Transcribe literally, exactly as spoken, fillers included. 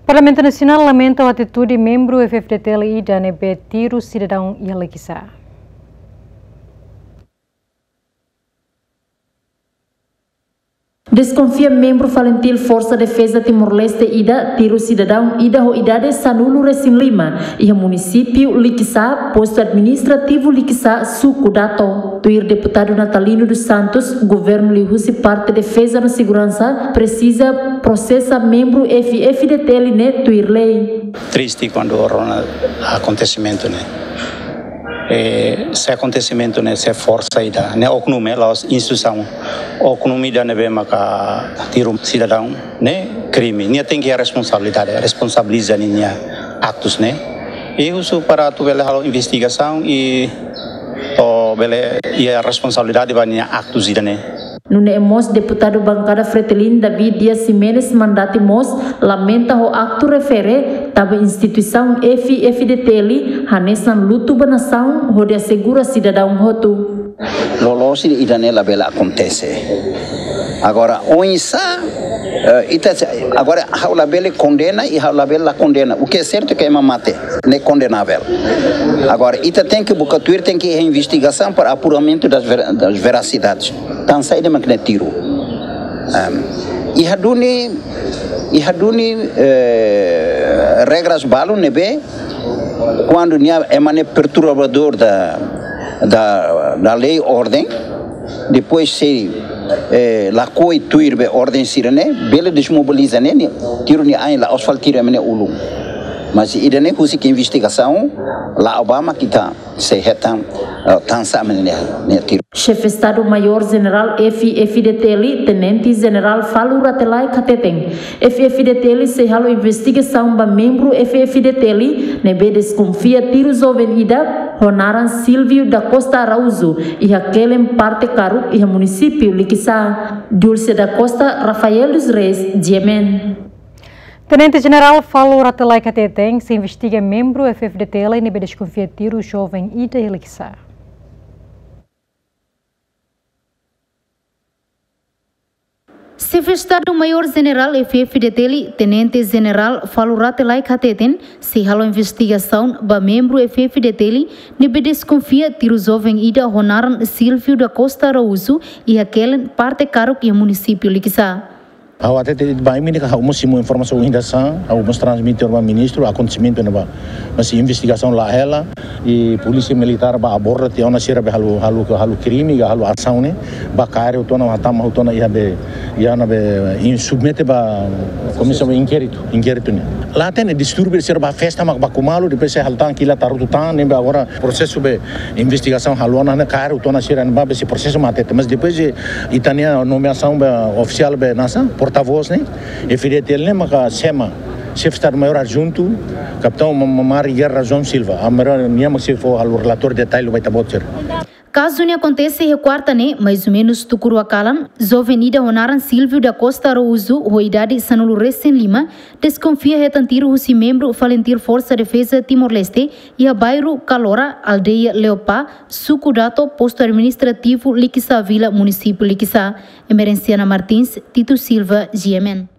Parlamentu Nasionál lamenta ho atitude membru F-FDTL ida ne'ebé tiru sidadaun iha Likisá. Deskonfia membru FALINTIL Forsa Defeza Timor-Leste ida tiru sidadaun ida ho idade sanulu resin lima iha munisípiu Likisá, postu administrativu Likisá, suku Dato. Tuir deputadu Natalino dos Santos, governu liuhusi parte defeza no seguransa presiza prosesa membru F-FDTL ne'e tuir lei. Triste kuandu rona akontesimentu ne'e. Eh, se akontesimentu ne'e, se forsa ida ne'e, oknum, la'ós instituisaun, oknum ida ne'ebé maka tiru sidadaun ne'e, krime. Nia tenke iha responsabilidade, responsabiliza ninia aktus ne'e. I husu para atu bele halo investigasaun i atu bele iha responsabilidade ba ninia aktus ida ne'e. Nune'e mós deputadu bankada FRETILIN David Dias Ximenes Mandati mós lamenta ho aktu refere tanba instituisaun F-FDTL hanesan lutu ba nasaun hodi asegura sidadaun hotu. Loloos ida-ne'e labele akontese. Agora, oinsá, eh, ita, agora, ha'u labele kondena i ha'u labele la kondena. O que é certo é que ema mate, ne'e kondenavel. Agora, ita tenke buka tuir, tenke investigasaun para apuramentu das ver-, das veracidades. Tansá ida mak ne'e tiru. Ehm, iha duni, iha duni, eh, regras balu ne'ebé, kuandu nia ema ne'e perturbadór da, da, da lei, orden, depois se, eh, lakohi tuir be orden sira-ne'e, bele desmobiliza ne'e, ne'e, tiru nia ain, la'ós fali tiru ema ne'e ulun. Mas ida-ne'e husik investigasaun, la'o ba mak ita sei hetan, eh, tansá mak ne'e, ne'e tiru. Xefe Estadu Maiór Jenerál F-FDTL, Tenente Jenerál Falur Rate Laek hateten, F-FDTL sei halo investigasaun ba membru F-FDTL ne'ebé deskonfia tiru joven ida ho naran Silvio da Costa Araújo iha Kelen, parte Karuk, iha munisípiu Likisá. Dulce da Costa, Rafael dos Reis, G M N. Tenente Jenerál Falur Rate Laek hateten, sei investiga membru F-FDTL ne'ebé deskonfia tiru joven ida iha Likisá. Xefe Estadu Maiór Jenerál F-FDTL, Tenente Jenerál Falur Rate Laek hateten, sei halo investigasaun ba membru F-FDTL ne'ebé deskonfia tiru joven ida ho naran Silvio da Costa Araújo iha Kelen, parte Karuk, iha munisípiu Likisá. Ha'u hatete ba imi ne'e katak ha'u mós simu informasaun ohin dadeer, ha'u mós transmite ba ministru akontesimentu ne'ebá. Mas investigasaun la'o hela, i polísia militár bá aborda tiha ona sira be halo, halo, halo krime, ka halo asaun ne'e, bá kaer hotu ona, hatama hotu ona iha be, iha ona be, i submete ba komisaun inkéritu, inkéritu ne'e. La hatene distúrbiu, sira bá festa mak baku malu, depois sei halo tan, kila, tarutu tan, ne'ebé agora prosesu be investigasaun halo ona, ne'e kaer hotu ona sira ne'ebá be sei prosesu mate. Mas depois de ita-nia nomeasaun be ofisiál be hanesan porta-voz ne'e, F-FDTL ne'e maka xefe, Xefe Estadu Maiór Adjuntu, Kapitaun Ma-, Ma-, Mari Guerra João Silva. Agora nia mak sei fó halo relatóriu detalle ba ita-boot sira. Kazu ne'e akontese iha kuarta ne'e, mais ou menus tuku rua kalan, joven ida ho naran Silvio da Costa Araújo, ho idade sanulu resin lima, deskonfia hetan tiru husi membru FALINTIL Forsa Defeza Timor-Leste iha bairru Kalora, aldeia Leopá, suku Dato, postu administrativu Likisá Vila, munisípiu Likisá. Emerenciana Martins, Tito Silva, G M N.